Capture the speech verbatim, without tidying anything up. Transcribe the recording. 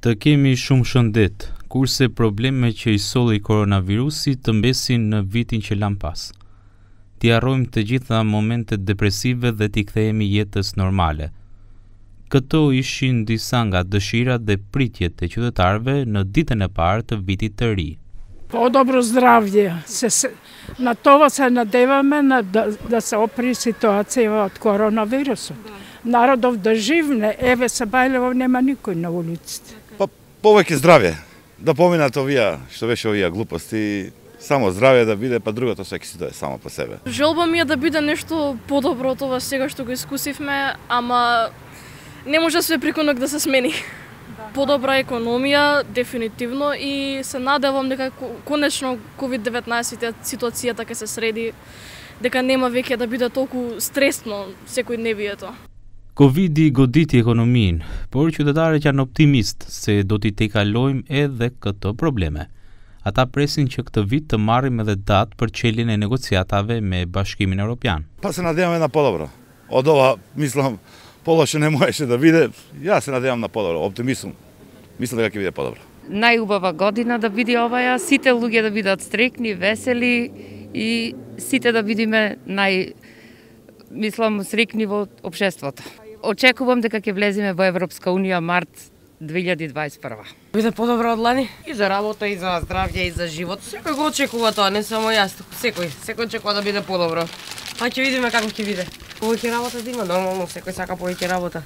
Të kemi shumë shëndet, kurse probleme që i solli koronavirusi të mbesin në vitin që lan pas. T'i harrojmë të gjitha momentet depresive dhe t'i kthehemi jetës normale. Këto ishin disa nga dëshirat dhe pritjet e qytetarëve në ditën e parë të vitit të ri. По-добро здравје. Се, се, на това се надеваме на, да, да се опри ситуација од коронавирусот. Народов да живне, еве се Бајлево нема никој на улиците. Па повеќе здравје, да поминат овие, што беше овие глупости, само здравје да биде, па другото секи си тоа само по себе. Желба ми е да биде нешто подобро од ова сега што го искусивме, ама не може све преку ноќ да се смени. Подобра економија, дефинитивно, и се надевам дека конечно ковид деветнаесет ситуацијата ќе се среди, дека нема веќе да биде толку стресно секојдневието. Covidi goditi ekonominë, por qytetarët janë optimist se do t'i tejkalojmë edhe këto probleme. Ata presin që këtë vit të marrim edhe datë për çeljen e negociatave me Bashkimin Evropian. Па се надеваме на подобро. Од ова, мислам, полошо не можеше да биде. Јас се надевам на подобро, оптимизм. Мислам дека ќе биде подобро. Најубава година да биде оваа, сите луѓе да бидат стрекни, весели и сите да бидиме нај, мислам, срекни во општеството. Очекувам дека ќе влеземе во Европска унија март две илјади дваесет и прва. Биде подобро од лани и за работа, и за здравје, и за живот. Секој го очекува тоа, не само јас, секој, секој очекува да биде подобро. Па ќе видиме како ќе биде. Повеќе работа да има, нормално, секој сака повеќе работа.